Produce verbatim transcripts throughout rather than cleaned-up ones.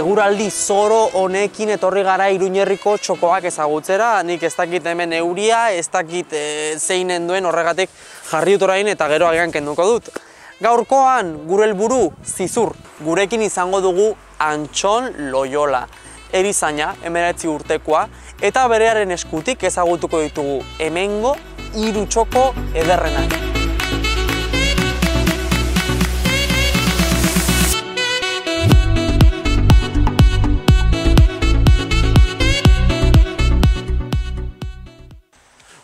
eguraldi zoro honekin etorri gara Iruñerriko txokoak ezagutzera, nik ez dakit hemen euria, ez dakit e, zeinen duen horregatik jarri dut orain eta gero agian kenduko dut. Gaurkoan gure helburu Zizur, gurekin izango dugu Antxon Loyola, erizaina, hemeretzi urtekoa, eta berearen eskutik ezagutuko ditugu hemengo hiru txoko ederrenak.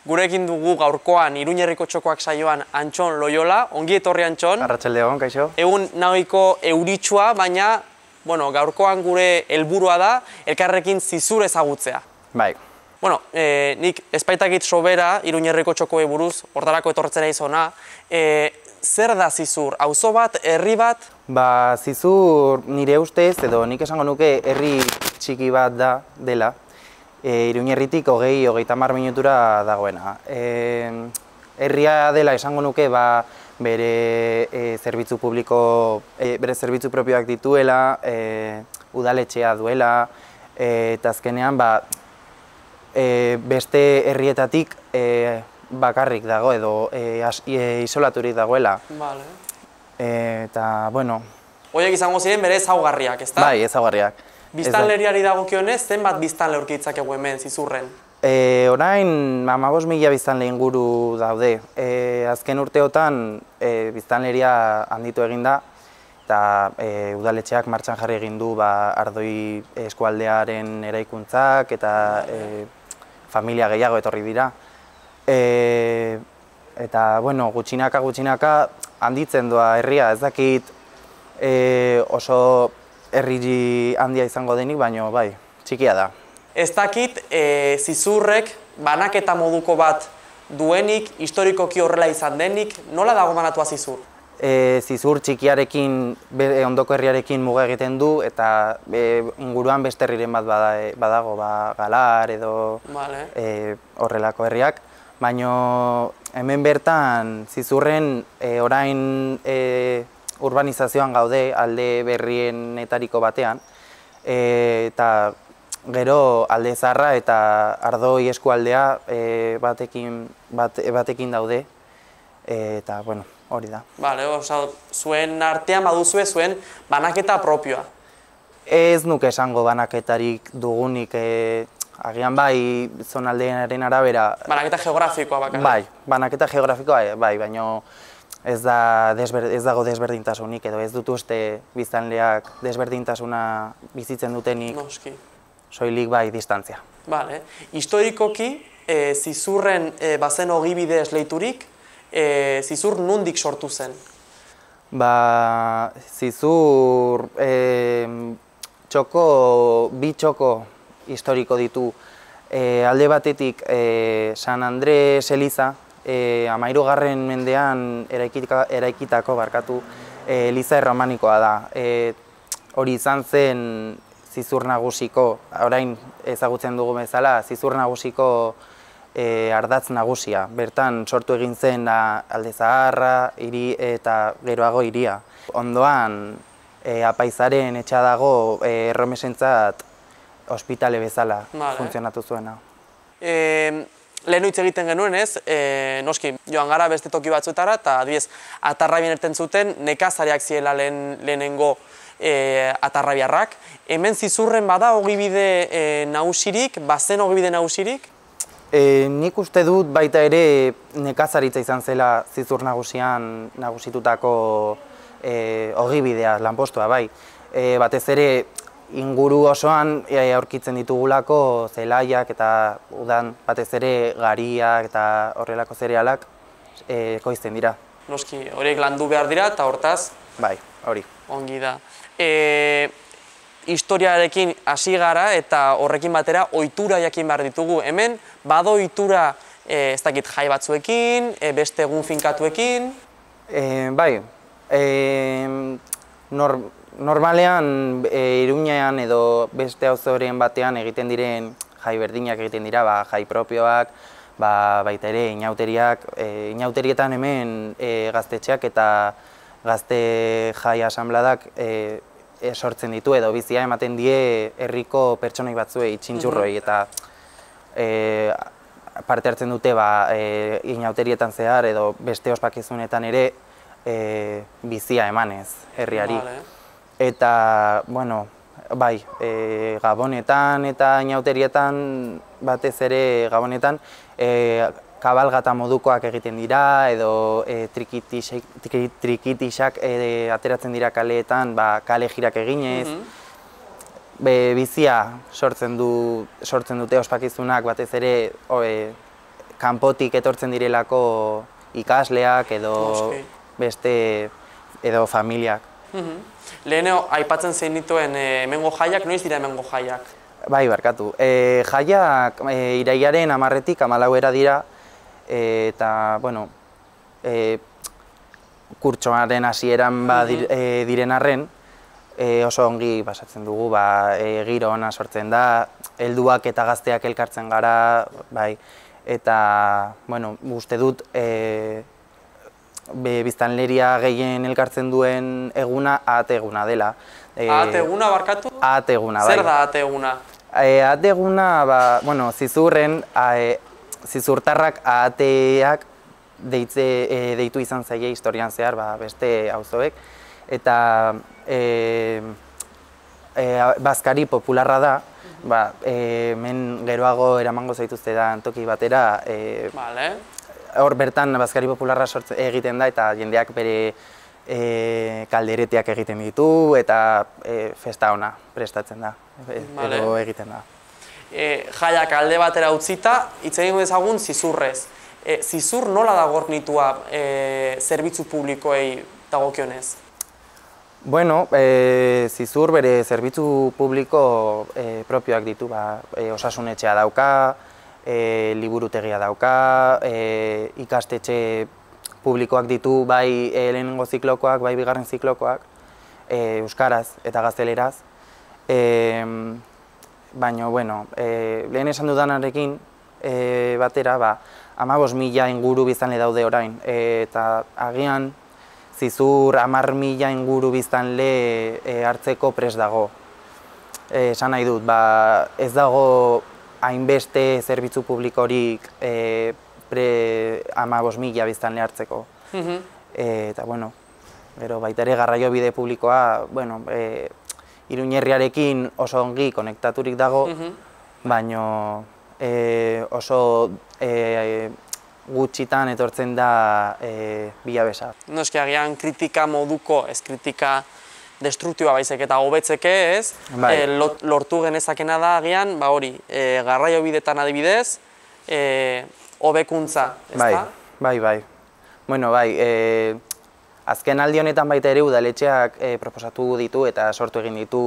Gurekin dugu gaurkoan Iruñerriko txokoak saioan Antxon Loyola. Ongi etorri, Antxon. Arratsaldeon, kaixo. Egun nahiko euritsua, baina bueno, gaurkoan gure helburua da elkarrekin Zizur ezagutzea. Bai. Bueno, eh, nik espaitakit sobera Iruñerriko txokoei buruz, hortarako etortzen naiz hona. Eh, zer da Zizur? Auzo bat, herri bat? Ba, Zizur nire ustez, edo nik esango nuke herri txiki bat da dela. E, Iruñerritik hogei, hogeita hamar minutura dagoena. E, herria dela esango nuke ba, bere e, zerbitzu publiko, e, bere zerbitzu propioak dituela, e, udaletxea duela, e, eta azkenean ba, e, beste herrietatik e, bakarrik dago edo e, as, e, isolaturik dagoela. Vale. E, eta, bueno... Horiek izango ziren bere ezaugarriak, ezta? Bai, ezaugarriak. Biztanleriari dagokionez, zenbat biztanle aurki ditzakegu hemen Zizurren? E, orain hamabost mila biztanle inguru daude. E, azken urteotan e, biztanleria handitu egin da, eta e, udaletxeak martxan jarri egin du ba, Ardoi eskualdearen eraikuntzak eta e, familia gehiago etorri dira. E, eta, bueno, gutxinaka gutxinaka handitzen doa herria, ez dakit e, oso herri handia izango denik, baina bai, txikia da. Ez dakit e, Zizurrek banaketa moduko bat duenik, historikoki horrela izan denik, nola dago banatua Zizur? E, Zizur txikiarekin, be, ondoko herriarekin muga egiten du, eta e, inguruan beste herriren bat bada, badago, ba, Galar edo vale. e, horrelako herriak, baina hemen bertan Zizurren e, orain e, urbanizazioan gaude alde berrienetariko batean, e, eta gero alde zaharra eta Ardoi eskualdea e, batekin, bat, batekin daude, e, eta bueno, hori da. Vale, oza, zuen artean baduzue zuen banaketa propioa. Ez nuke esango banaketarik dugunik, e, agian bai zonaldearen arabera... Banaketa geografikoa bakarrik. Bai, banaketa geografikoa bai, baina ez, da desber, ez dago desberdintasunik, edo ez dut uste biztanleak desberdintasuna bizitzen dutenik. Noski. Soilik bai distantzia. Vale. Historikoki, e, Zizurren e, bazen ogibide esleiturik, e, Zizur nondik sortu zen? Ba, Zizur e, txoko, bi txoko historiko ditu. E, alde batetik e, San Andres eliza, E, hamahirugarren mendean eraikita, eraikitako barkatu e, eliza erromanikoa da. E, hori izan zen Zizur nagusiko, orain ezagutzen dugu bezala, Zizur nagusiko e, ardatz nagusia. Bertan sortu egin zen da, Alde Zaharra, hiri eta geroago hiria. Ondoan e, apaizaren etxa dago e, erromesentzat ospitale bezala vale. funtzionatu zuena. E, Lehen hitz egiten genuen ez, e, noski, joan gara beste toki batzuetara, eta adibidez, Atarrabien erten zuten, nekazariak ziela lehen, lehenengo e, atarrabiarrak. Hemen Zizurren bada ogibide e, nagusirik, bazen ogibide nagusirik? E, nik uste dut baita ere nekazaritza izan zela Zizur nagusian nagusitutako e, ogibidea, lanpostua bai. E, batez ere, inguru osoan aurkitzen ditugulako zelaiak eta udan batez ere gariak eta horrelako zerealak e, ekoizten dira. Noski, horiek landu behar dira eta hortaz? Bai, hori. Ongi da. E, historiarekin hasi gara eta horrekin batera ohitura jakin behar ditugu. Hemen bado ohitura e, ez dakit jai batzuekin, e, beste egun finkatuekin? E, bai, e, nor, normalean e, Iruñean edo beste auzoren batean egiten diren jai berdinak egiten dira, ba, jai propioak, ba, baita ere inauteriak, e, inauterietan hemen e, gaztetxeak eta gazte jai asanbladak e, sortzen ditu edo bizia ematen die herriko pertsonai batzuei, txintxurroi, eta e, parte hartzen dute ba, e, inauterietan zehar edo beste ospakizunetan ere e, bizia emanez herriari. Vale. Eta, bueno, bai, e, Gabonetan eta inauterietan batez ere Gabonetan e, kabalgata modukoak egiten dira edo e, trikitixak, trikitixak e, ateratzen dira kaleetan, ba, kale jirak eginez. Mm-hmm. Be, bizia sortzen, du, sortzen dute ospakizunak batez ere o, e, kanpotik etortzen direlako ikasleak edo Moski. beste edo familiak. Mm-hmm. Leheneo, aipatzen zein dituen e, hemengo jaiak, noiz dira hemengo jaiak? Bai, barkatu. E, jaiak e, irailaren hamarretik hamalauera dira, e, eta, bueno, e, kurtsoaren hasieran ba, dir, e, diren arren, e, oso ongi pasatzen dugu, ba, e, giro ona sortzen da, helduak eta gazteak elkartzen gara, bai, eta, bueno, uste dut, e, Be, biztanleria gehien elkartzen duen eguna ahate eguna dela. E, ahate eguna barkatu? Ahate eguna, bai. Zer da ahate eguna? E, ahate eguna, ba, bueno, zizurren, a, e, zizurtarrak ahateak deitze, e, deitu izan zaie historian zehar, ba, beste auzoek, eta e, e, bazkari popularra da, ba, e, men geroago eramango zaituzte da toki batera, e, vale. Hor bertan bazkari popularra sortze, egiten da eta jendeak bere e, kaldereteak egiten ditu eta e, festa ona prestatzen da, e, vale. edo egiten da. E, jaiak alde batera utzita, hitz egingo dezagun zizurrez. E, zizur nola da gornitua e, zerbitzu publikoei dagokionez? Bueno, e, zizur bere zerbitzu publiko e, propioak ditu, ba, e, osasunetxea dauka, E, liburutegia dauka, e, ikastetxe publikoak ditu, bai e, lehenengo ziklokoak, bai bigarren ziklokoak, e, euskaraz eta gazteleraz. E, Baina, bueno, e, lehen esan dudanarekin e, batera, ba, hamabost mila inguru biztanle daude orain, e, eta agian zizur hamar mila inguru biztanle e, hartzeko prest dago. E, esan nahi dut, ba, ez dago hainbeste zerbitzu publikorik e, pre hamabost mila biztanle hartzeko. Mm-hmm. e, eta, bueno, gero baita ere garraiobide publikoa, bueno, e, Iruñerriarekin oso ongi konektaturik dago, mm-hmm. baina e, oso e, gutxitan etortzen da e, bilabesa. Noski agian kritika moduko, ez kritika destruktiboa baizik eta hobetzeke, ez? Bai. E, lortu genezakena da agian, ba hori, e, garraiobidetan adibidez, e, hobekuntza, ez bai, da? Bai, bai. Bueno, bai, e, azken aldi honetan baita ere udaletxeak e, proposatu ditu eta sortu egin ditu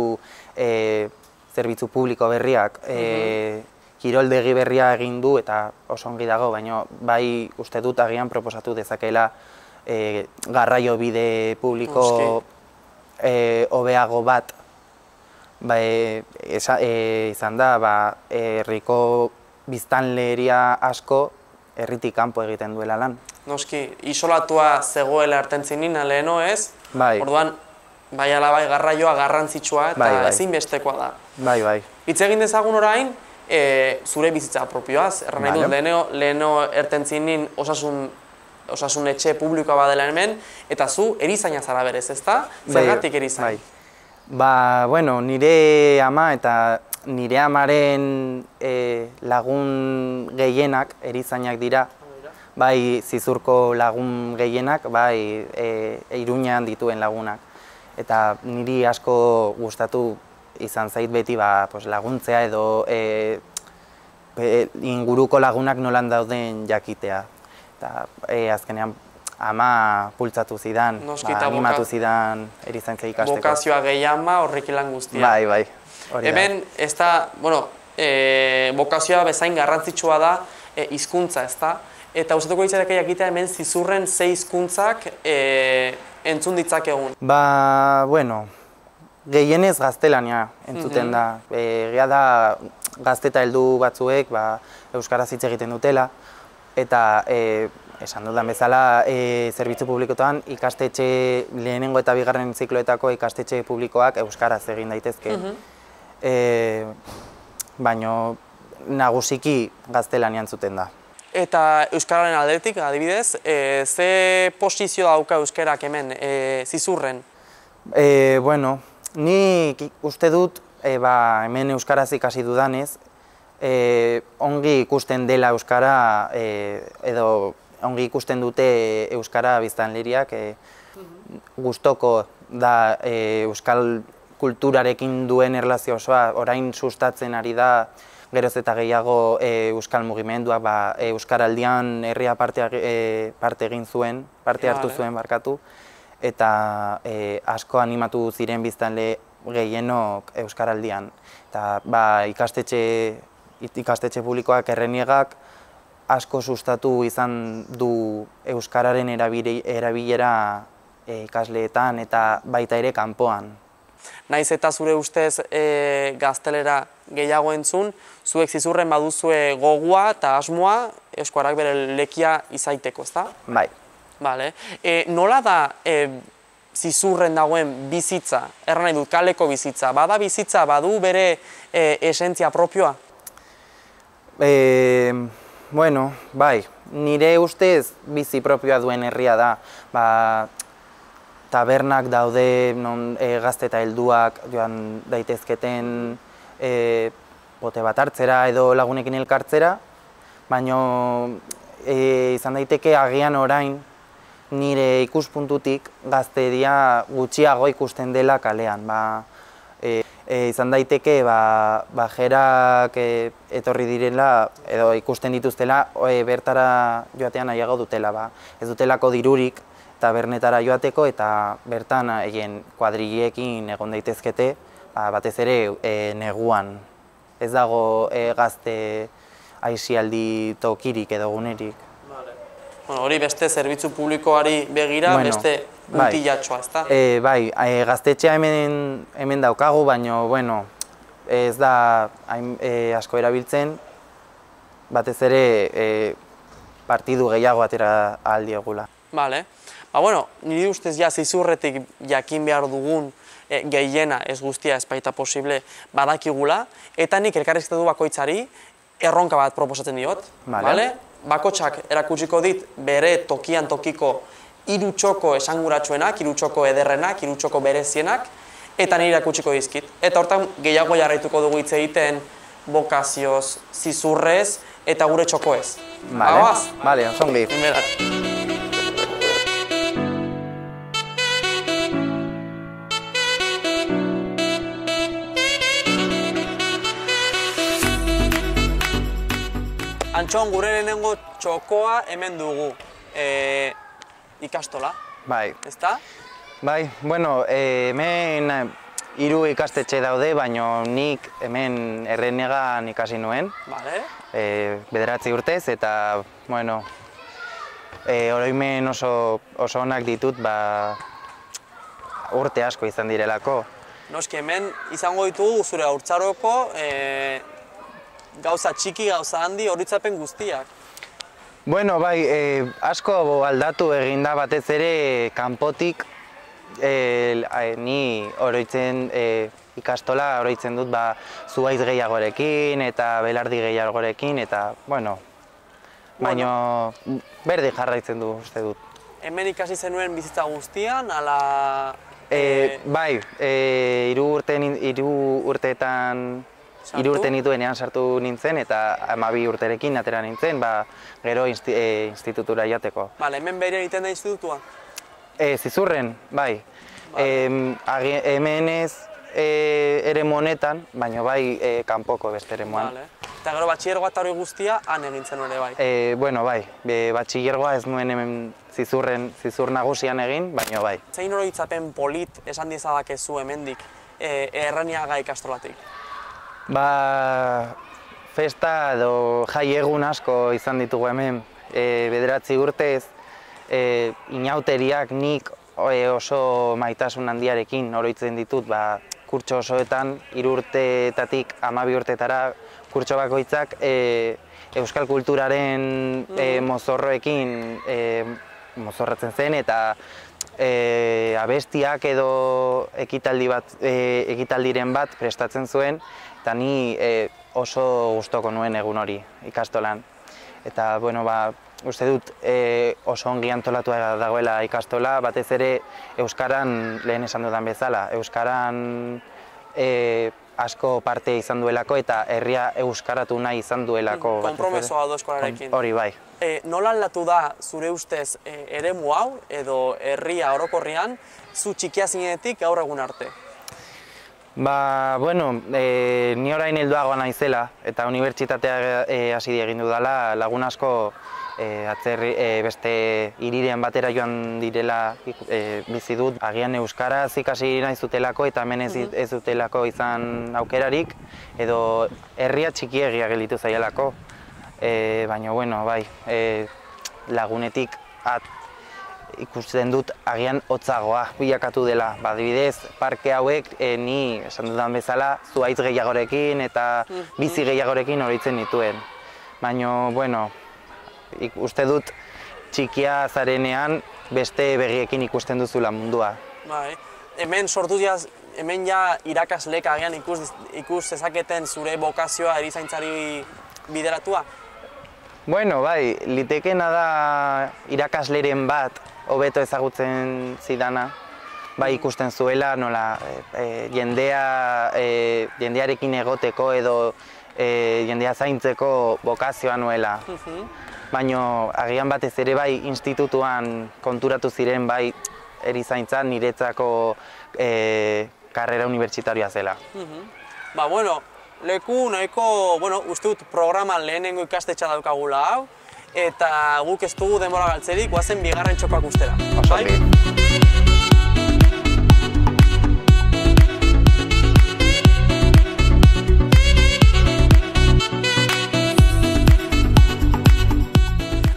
e, zerbitzu publiko berriak. E, mm-hmm. Kiroldegi berria egin du eta oso ongi dago, baina bai uste dut agian proposatu dezakela e, garraiobide publiko hobeago e, bat ba, e, esa, e, izan da, ba, herriko biztanleria asko herritik kanpo egiten duela lan. Noski, isolatua zegoela ertentzinin leheno, ez? Bai. Orduan, bai ala bai garraioa garrantzitsua eta bai, bai. ezinbestekoa da. Bai, bai. Hitz egin dezagun orain, e, zure bizitza propioaz, erran nahi dut, leheno, leheno ertentzinin osasun osasun etxe publikoa badela hemen, eta zu erizaina zara berez, ezta? Zergatik erizain? Bai. Ba, bueno, nire ama eta nire amaren e, lagun gehienak erizainak dira. Bai, zizurko lagun gehienak, bai, e, Iruñean dituen lagunak. Eta niri asko gustatu izan zait beti ba, pues, laguntzea edo e, pe, inguruko lagunak nolan dauden jakitea. Eta e, azkenean ama pultzatu zidan, ba, animatu zidan erizaintza ikasteko. Bokazioa gehi ama horrek lan guztia. Bai, bai. Hemen, ez da, bueno, e, bokazioa bezain garrantzitsua da e, hizkuntza, ez da? Eta ustetuko ditzareke jakitea hemen zizurren ze hizkuntzak e, entzun ditzakegun. Ba, bueno, gehienez gaztelania entzuten da. Mm-hmm. Egia da gazte eta heldu batzuek ba, euskaraz hitz egiten dutela. Eta e, esan dudan bezala, e, zerbitzu publikotan ikastetxe lehenengo eta bigarren zikloetako ikastetxe publikoak euskaraz egin daitezke. e, Baina nagusiki gaztelanian zuten da. Eta euskararen aldetik, adibidez, e, ze posizio dauka euskarak hemen, e, zizurren? E, bueno, nik uste dut, e, ba, hemen euskaraz ikasi dudanez, e, ongi ikusten dela euskara, e, edo ongi ikusten dute euskara biztanleriak, e, gustoko da e, euskal kulturarekin duen erlazio osoa, orain sustatzen ari da geroz eta gehiago e, euskal mugimenduak, ba, e, euskaraldian herria parte, e, parte egin zuen, parte hartu zuen barkatu, eta e, asko animatu ziren biztanle gehienok euskaraldian. Eta ba, ikastetxe, ikastetxe publikoak Erreniegak asko sustatu izan du euskararen erabilera e, ikasleetan eta baita ere kanpoan. Naiz eta zure ustez e, gaztelera gehiago entzun, zuek zizurren baduzue gogua eta asmoa euskerak bere lekia izaiteko, ezta? Bai. Vale. E, nola da e, zizurren dagoen bizitza, erran nahi dut, kaleko bizitza, bada bizitza, badu bere e, esentzia propioa? E, bueno, bai, nire ustez bizi propioa duen herria da. Ba, tabernak daude, non e, gazte eta helduak joan daitezketen e, bote bat hartzera edo lagunekin elkartzera, baina e, izan daiteke agian orain nire ikuspuntutik gazteria gutxiago ikusten dela kalean. Ba, e, e, izan daiteke ba, bajerak e, etorri direla edo ikusten dituztela e, bertara joatean nahiago dutela. Ba. Ez dutelako dirurik tabernetara joateko eta bertan egin kuadrilleekin egon daitezkete, ba, batez ere e, neguan. Ez dago e, gazte aisialdi tokirik edo gunerik. Vale. Bueno, hori beste zerbitzu publikoari begira, bueno, beste puntillatxoa, ezta? E, bai, e, gaztetxea hemen, hemen daukagu, baina bueno, ez da hain, e, asko erabiltzen, batez ere e, partidu gehiago atera ahal diegula. Vale. Ba, bueno, niri ustez ja zizurretik jakin behar dugun e, gehiena ez guztia ez baita posible badakigula, eta nik elkarrizketatu bakoitzari erronka bat proposatzen diot. Vale. Vale? Bakotxak erakutsiko dit bere tokian tokiko hiru txoko esanguratsuenak, hiru txoko ederrenak, hiru txoko berezienak, eta niri erakutsiko dizkit. Eta hortan gehiago jarraituko dugu hitz egiten bokazioz, zizurrez eta gure txokoez. Vale, Bagoaz? vale, osongi. Antxon, gure lehenengo txokoa hemen dugu, e, ikastola, Bai. ezta? Bai, bueno, e, hemen hiru ikastetxe daude, baina nik hemen Erreniegan ikasi nuen, Vale. e, bederatzi urtez, eta, bueno, e, oroimen oso, oso onak ditut, ba, urte asko izan direlako. Noski hemen izango ditugu zure haurtzaroko e, gauza txiki, gauza handi, horitzapen guztiak. Bueno, bai, e, asko aldatu eginda batez ere kanpotik, e, ni oroitzen e, ikastola oroitzen dut ba, zuhaitz gehiagorekin eta belardi gehiagorekin, eta, bueno, baina berdi jarraitzen du, uste dut. Hemen ikasi zenuen bizitza guztian, ala... E, bai, e, hiru urte, hiru urteetan, hiru urte nituenean sartu nintzen, eta hamabi urterekin atera nintzen, ba, gero insti, e, institutura jateko. Vale, hemen behire egiten da institutua? E, zizurren, bai. Vale. E, hemen ez e, ere monetan, baina bai e, kanpoko beste ere moan. Vale. Eta gero batxillergoa eta hori guztia han egintzen ere bai? E, bueno, bai, e, batxillergoa ez nuen hemen zizurren, zizur nagusian egin, baina bai. Zein oroitzapen polit esan dizadakezu hemendik e, Erreniaga ikastolatik? Ba, festa edo jai egun asko izan ditugu hemen, e, bederatzi urtez, e, inauteriak nik e, oso maitasun handiarekin oroitzen ditut, ba, kurtso osoetan, hiru urteetatik hamabi urtetara kurtso bakoitzak e, euskal kulturaren e, mozorroekin e, mozorratzen zen eta e, abestiak edo ekitaldi bat, e, ekitaldiren bat prestatzen zuen eta ni e, oso gustoko nuen egun hori ikastolan. Eta, bueno, ba, uste dut e, oso ongi antolatua dagoela ikastola, batez ere euskaran lehen esan dudan bezala, euskaran e, asko parte izan duelako eta herria euskaratu nahi izan duelako. Konpromesoa do eskolarekin. Hori bai. E, nola aldatu da zure ustez e, eremu hau edo herria orokorrian zu txikia zinenetik gaur egun arte? Ba, bueno, e, ni orain helduagoa naizela eta unibertsitatea e, hasi egin dudala, lagun asko e, atzerri, e, beste hiriren batera joan direla e, bizi dut. Agian euskaraz ikasi nahi zutelako eta hemen ez, ez dutelako izan aukerarik edo herria txikiegia gelditu zaielako. E, baina, bueno, bai, e, lagunetik at, ikusten dut agian hotzagoa bilakatu dela. Ba, adibidez, parke hauek e, ni esan dudan bezala zuhaitz gehiagorekin eta bizi gehiagorekin horitzen dituen. Baina, bueno, uste dut txikia zarenean beste begiekin ikusten duzula mundua. Bai, hemen sortu jaz, hemen ja irakaslek agian ikus, ikus ezaketen zure bokazioa erizaintzari bideratua? Bueno, bai, litekena da irakasleren bat hobeto ezagutzen zidana, bai ikusten zuela nola e, jendea, e, jendearekin egoteko edo e, jendea zaintzeko bokazioa nuela. Baina agian batez ere bai institutuan konturatu ziren bai erizaintzan niretzako e, karrera unibertsitarioa zela. Ba, bueno, leku nahiko, bueno, uste dut programan lehenengo ikastetxa daukagula hau, eta guk ez dugu denbora galtzerik, guazen bigarren txokoak ustera. Osongi.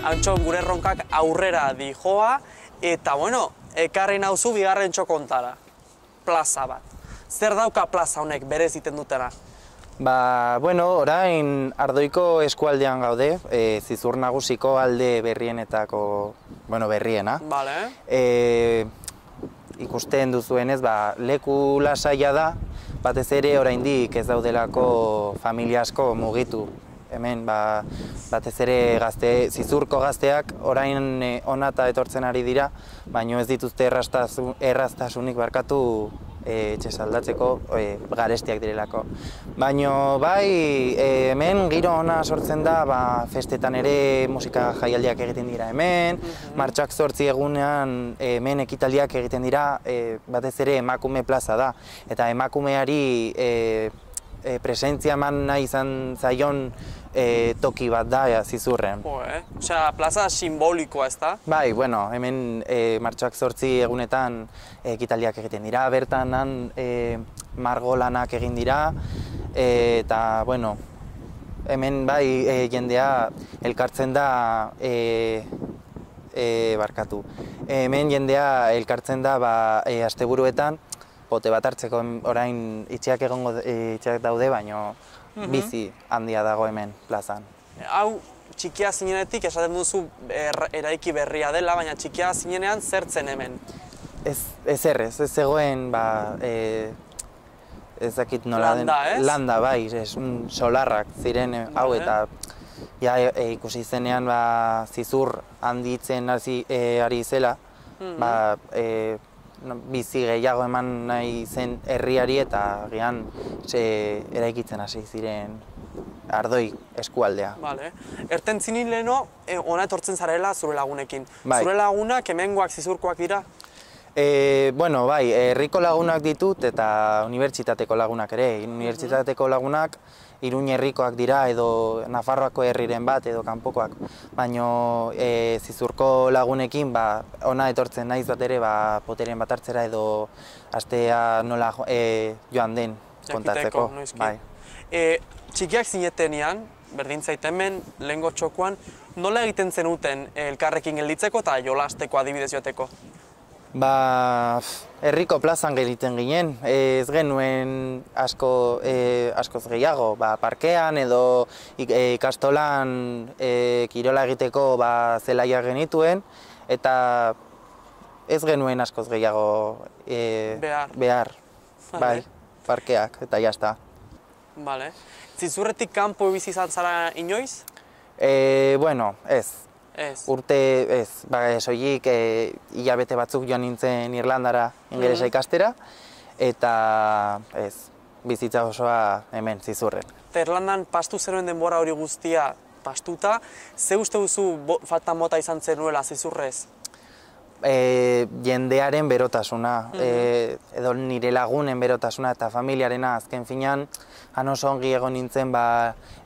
Antxo gure erronkak aurrera dijoa, eta bueno, ekarri nauzu bigarren txokontara, plaza bat. Zer dauka plaza honek berez iten dutena? Ba, bueno, orain Ardoiko eskualdean gaude, e, Zizur Nagusiko alde berrienetako, bueno, berriena. Vale. E, ikusten duzuenez, ba, leku lasaia da, batez ere oraindik ez daudelako familia asko mugitu. Hemen, ba, batez ere gazte, Zizurko gazteak orain e, onata etortzen ari dira, baina ez dituzte erraztasun, erraztasunik barkatu e, etxez aldatzeko e, garestiak direlako. Baina bai, e, hemen giro ona sortzen da, ba, festetan ere musika jaialdiak egiten dira hemen, martxoak zortzi egunean e, hemen ekitaldiak egiten dira, e, batez ere emakume plaza da, eta emakumeari e, E, presentzia eman nahi izan zaion e, toki bat da ja, Zizurren. Jo, eh? Osea, plaza simbolikoa ez da? Bai, bueno, hemen e, martxoak zortzi egunetan e, ekitaldiak egiten dira, bertan han e, margolanak egin dira, e, eta, bueno, hemen bai e, jendea elkartzen da e, e, barkatu. Hemen jendea elkartzen da ba, e, asteburuetan, pote bat hartzeko orain itxeak egongo itxeak daude, baino bizi handia dago hemen plazan. Hau txikia zinenetik esaten duzu er, eraiki berria dela, baina txikia zinenean zertzen hemen? Ez, ez errez, ez zegoen, ba, e, ez dakit nola den. Landa, ez? Landa, bai, ez, un solarrak ziren hau eta ja, e, ikusi zenean ba, Zizur handitzen hasi e, ari zela, ba, e, bizi gehiago eman nahi zen herriari eta agian eraikitzen hasi ziren Ardoi eskualdea. Vale. Erten zinin leheno, e, ona etortzen zarela zure lagunekin. Bai. Zure lagunak hemengoak Zizurkoak dira? E, bueno, bai, herriko lagunak ditut eta unibertsitateko lagunak ere. Unibertsitateko lagunak Iruña herrikoak dira edo Nafarroako herriren bat edo kanpokoak. Baina e, Zizurko lagunekin ba, ona etortzen naiz bat ere ba, poteren bat hartzera edo astea nola e, joan den kontatzeko. Bai. E, txikiak zinetenean, berdin zaiten hemen, lehengo txokoan, nola egiten zenuten elkarrekin gelditzeko eta jolasteko adibidez joateko? Ba, herriko plazan geliten ginen, ez genuen asko, e, askoz gehiago, ba, parkean edo ikastolan e, kirola egiteko ba, zelaia genituen, eta ez genuen askoz gehiago e, behar, behar. Vale. Bai, parkeak, eta jazta. Vale. Zizurretik kanpo bizi izan zara inoiz? E, bueno, ez. Ez. Urte, ez, ba, soilik e, hilabete batzuk joan nintzen Irlandara ingelesa ikastera, eta ez, bizitza osoa hemen Zizurren. Eta Irlandan pastu zenuen denbora hori guztia pastuta, ze uste duzu bo, falta mota izan zenuela Zizurrez? E, jendearen berotasuna, e, edo nire lagunen berotasuna eta familiarena azken finean, han oso ongi egon nintzen ba,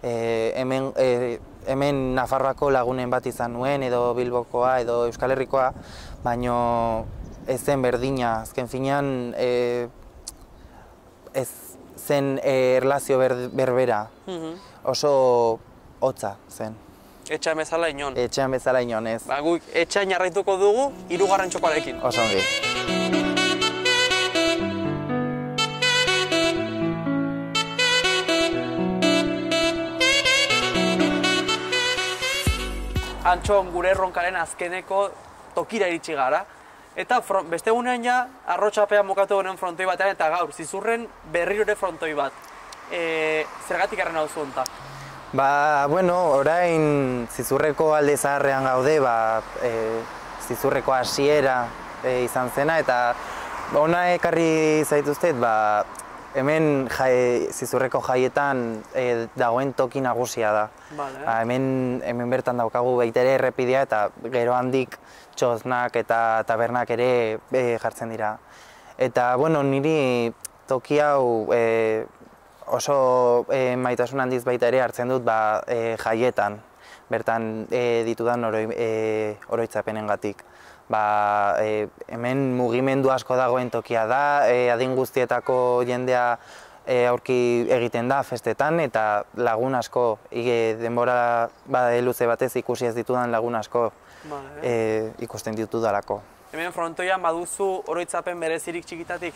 e, hemen, e, hemen Nafarroako lagunen bat izan nuen, edo Bilbokoa, edo Euskal Herrikoa, baino ez zen berdina, azken finean e, ez zen e, erlazio ber, berbera, oso hotza zen. Etxean bezala inon. Etxean bezala inon, ez. Ba, guk etxean jarraituko dugu, hirugarren txokoarekin. Oso ongi. Antxon, gure erronkaren azkeneko tokira iritsi gara. Eta front, beste gunean ja, arrotxapean mokatu honen frontoi batean, eta gaur, Zizurren berriro ere frontoi bat. E, zergatik arren hau zuonta? Ba, bueno, orain Zizurreko alde zaharrean gaude, ba, e, Zizurreko hasiera e, izan zena, eta ona ekarri zaituztet, ba, hemen jai, Zizurreko jaietan e, dagoen toki nagusia da. Vale. Ba, hemen, hemen bertan daukagu baita ere errepidea, eta gero handik txoznak eta tabernak ere e, jartzen dira. Eta, bueno, niri toki hau e, oso e, maitasun handiz baita ere hartzen dut ba, e, jaietan, bertan e, ditudan oroi, e, oroitzapenengatik. Ba, e, hemen mugimendu asko dagoen tokia da, e, adin guztietako jendea e, aurki egiten da festetan, eta lagun asko, ige, denbora ba, luze batez ikusi ez ditudan lagun asko Vale. e, ikusten ditudalako. Hemen frontoian baduzu oroitzapen berezirik txikitatik?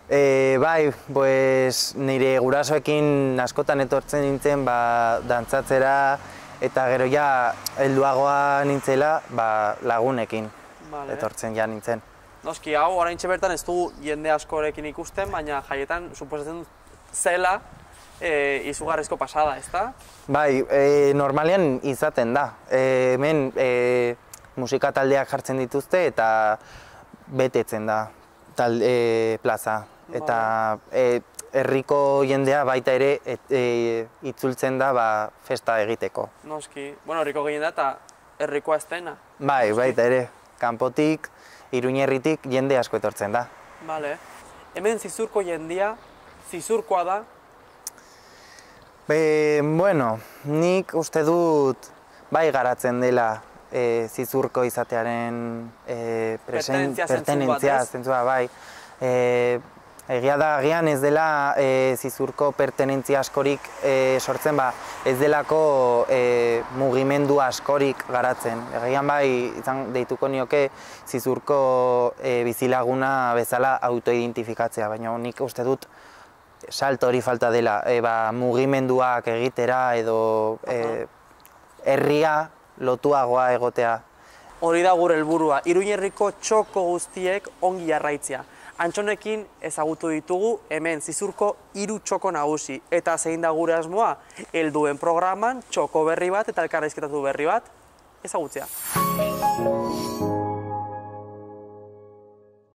E, bai, pues, nire gurasoekin askotan etortzen nintzen ba, dantzatzera, eta gero ja helduagoa nintzela ba, lagunekin Vale. etortzen ja nintzen. Noski, hau oraintxe bertan ez dugu jende askorekin ikusten, baina jaietan suposatzen zela e, izugarrizko pasada, ezta? Bai, e, normalean izaten da. E, hemen e, musika taldeak jartzen dituzte eta betetzen da tal, e, plaza. Eta e, herriko jendea baita ere et, e, itzultzen da ba, festa egiteko. Noski, bueno, herriko gehien da eta herrikoa ez dena. Bai, baita ere, kanpotik, Iruñerritik jende asko etortzen da. Vale. Hemen Zizurko jendia, Zizurkoa da? Be, bueno, nik uste dut bai garatzen dela e, Zizurko izatearen e, presen, pertenentzia zentzua, bai. E, Egia da, agian ez dela e, Zizurko pertenentzia askorik e, sortzen, ba, ez delako e, mugimendu askorik garatzen. Egian bai, izan deituko nioke Zizurko e, bizilaguna bezala autoidentifikatzea, baina nik uste dut salto hori falta dela, e, ba, mugimenduak egitera edo e, herria lotuagoa egotea. Hori da gure helburua, Iruñerriko txoko guztiek ongi jarraitzea. Antxonekin ezagutu ditugu hemen Zizurko hiru txoko nagusi. Eta zein da gure asmoa? Helduen programan txoko berri bat eta elkarrizketatu berri bat ezagutzea.